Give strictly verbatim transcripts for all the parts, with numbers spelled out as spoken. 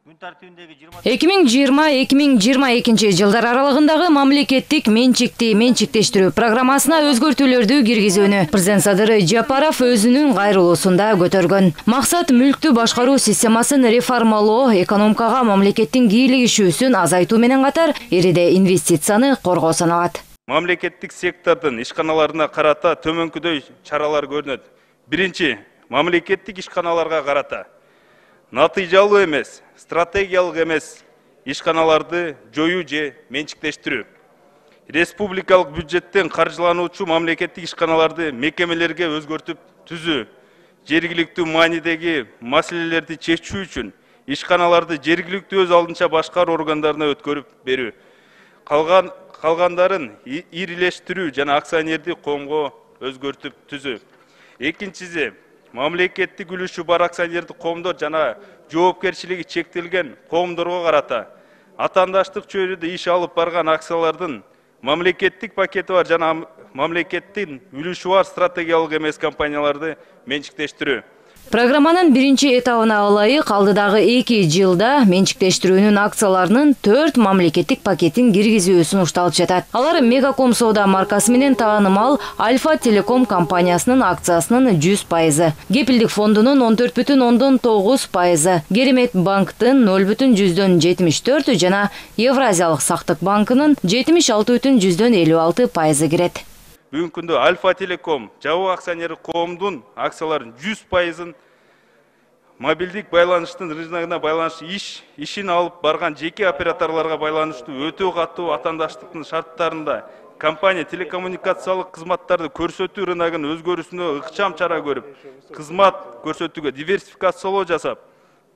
эки миң жыйырма эки миң жыйырма экинчи жылдар аралыгындагы мамлекеттик менчикти менчиктештирүү программасына өзгөртүүлөрдү киргизүүнү президент Садыр Жапаров өзүнүн кайрылуусунда көтөргөн. Максат мүлктү башкаруу системасын реформалоо, экономикага мамлекеттин кийлигишүүсүн азайтуу менен катар, ириде инвестицияны коргоо саналат. Мамлекеттик сектордун ишканаларына карата төмөнкүдөй чаралар көрүнөт. Биринчи, мамлекеттик ишканаларга карата натыйжалуу эмес, стратегиялык эмес ишканаларды жоюу же менчиктештирүү. Республикалык бюджеттен каржылануучу мамлекеттик ишканаларды мекемелерге өзгөртүп түзүү, жергиликтүү маанидеги маселелерди чечүү үчүн ишканаларды жергиликтүү өз алдынча башкаруу органдарына өткөрүп берүү. Калган калгандарын ирилештирүү жана акционердик коомго өзгөртүп түзүү. Экинчиси, мамлекеттик үлүшү бар акционердик коомдор жана жоопкерчилиги чектелген коомдорго карата атаандаштык чөйрөдө иш алып барган акциялардын мамлекеттик пакети бар жана мамлекеттин үлүшү бар стратегиялык эмес компанияларды менчиктештирүү. Программанын биринчи этабына ылайык алдыдагы эки жылда менчиктештирүүнүн акцияларынын төрт мамлекеттик пакетин киргизүү сунушталып жатат. Алар Мегаком Соода маркасы менен таанымал Альфа Телеком компаниясынын акциясынын жүз пайызы, Кепилдик фондунун он төрт бүтүн ондон тогуз пайызы, Керемет банктын нөл бүтүн жүздөн жетимиш төрт жана Евразиялык сактык банкынын жетимиш алты бүтүн жүздөн элүү алты пайызы кирет. Бүгүнкү күндө Альфа Телеком жабык акционерлик коомдун акцияларынын жүз пайызын мобилдик байланыштын рыногуна байланыштуу иш ишин алып барган жеке операторлорго байланыштуу өтө катуу атаандаштыктын шарттарында компания телекоммуникациялык кызматтарды көрсөтүү рыногунун өзгөрүүсүнө ыкчам чара көрүп, кызмат көрсөтүүгө диверсификациялоо жасап,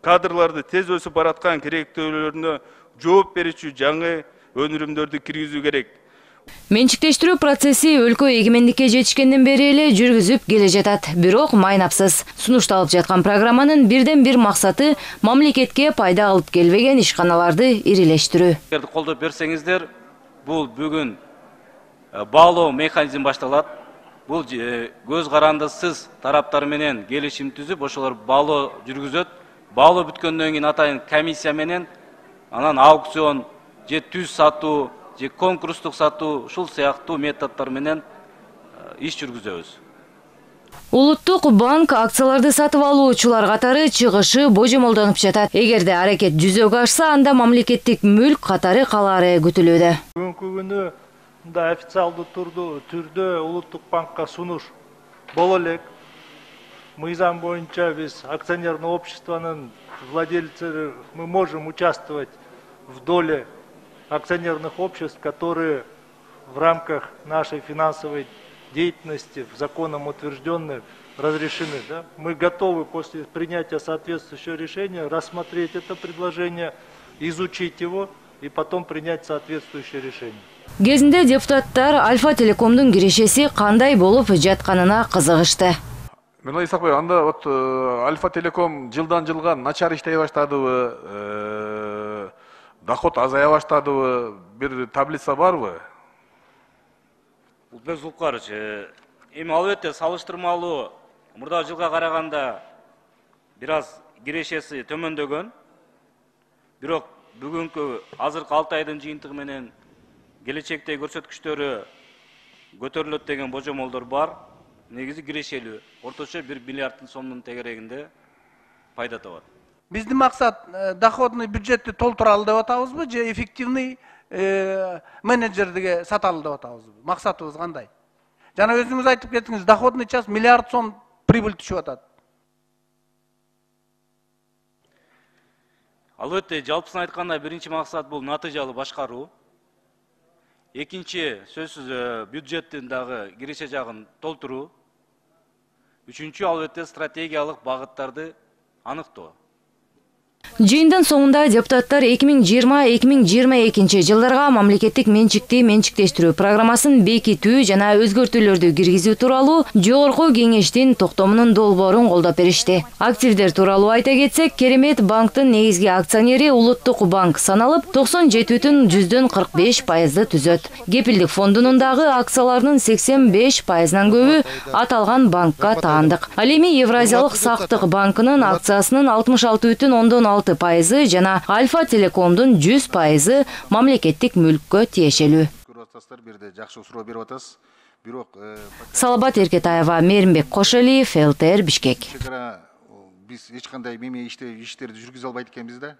кадрларды тез өсүп бараткан керектөөлөрүнө жооп берүүчү жаңы өнүрүмдөрдү киргизүү керек. Менчиктештирүү процесси өлкө эгемендикке жетишкенден бери эле жүргүзүп келе жатат. Бирок майнапсыз. Сунушталып жаткан программанын бирден бир максаты мамлекетке пайда алып келбеген ишканаларды ирилештирүү. Эгерде колдоп берсеңиздер, бул бүгүн баалоо механизми башталат. Бул көз карандысыз тараптар менен келишим түзүп, ошолор баалоо жүргүзөт. Баалоо бүткөндөн кийин атайын комиссия менен анан аукцион же түз сатуу же конкурстук сатуу ушул сыяктуу методдор менен иш жүргүзөбүз. Улуттук банк акцияларды сатып алуучулар катары чыгышы божомолдонуп жатат. Эгерде аракет жүзөгө ашса, анда мамлекеттик мүлк катары калаары күтүлүүдө. Бүгүнкү күнү мында официалдуу түрдө Улуттук банкка сунуш боло элек. Мыйзам боюнча биз акционерный обществонун владельцleri, мы можем участвовать в доле акционерных обществ, которые в рамках нашей финансовой деятельности, в законом утвержденных, разрешены. Да? Мы готовы после принятия соответствующего решения рассмотреть это предложение, изучить его и потом принять соответствующее решение. Кезинде депутаттар Альфа Телекомдун кирешеси кандай болуп жатканына кызыгышты. Мына Исакбай, анда вот Альфа Телеком жылдан жылга начар иштей баштадыбы? Доход азая баштадыбы, бир таблица барбы? Ултбек Зулкарович, эми албетте салыштырмалуу мурдагы жылга караганда бир аз кирешеси төмөндөгөн. Бирок бүгүнкү азыркы алты айдын жыйынтыгы менен келечекте көрсөткүчтөрү көтөрүлөт деген божомолдор бар. Негизи кирешелүү. Орточо бир миллиарддын сомдун тегерегинде пайда табат. Биздин максат доходный бюджетти толтуралы деп атабызбы же эффективный менеджердиге саталы деп атабызбы? Максатыбыз кандай? Жана өзүңүз айтып кеттиңиз, доходный час миллиард сом прибыль түшүп атат. Албетте, жалпысын айтканда биринчи максат бул натыйжалуу башкаруу. Экинчи сөзсүз бюджеттин дагы киреше жагын толтуруу. Үчүнчү албетте стратегиялык багыттарды аныктоо. Жыйындын соңунда депутаттар эки миң жыйырма эки миң жыйырма экинчи жылдарга мамлекеттик менчикти менчиктештирүү программасын бекитүү жана өзгөртүүлөрдү киргизүү тууралуу жогорку кеңештин токтомунун долбоорун колдоп беришти. Активдер тууралуу айта кетсек, Керемет банктын негизги акционери Улуттук банк саналып, токсон жети бүтүн жүздөн кырк беш пайызды түзөт. Кепилдик фондунун дагы акцияларынын сексен беш пайызынан көбү аталган банкка таандык. Ал эми Евразиялык сактык банкынын акциясынын алтымыш алты бүтүн ондон алты пайызы жана Альфа Телекомдун жүз пайызы мамлекеттик мүлккө тиешелүү. Көрүп атасыздар, бир жерде жакшы суроо берип атасыз. Бирок Салабат Эркетаева, Мээримбек Кошалиев, эл тэ эр Бишкек. чекара биз эч кандай меме иштерди жүргүзө албайт экенбиз да.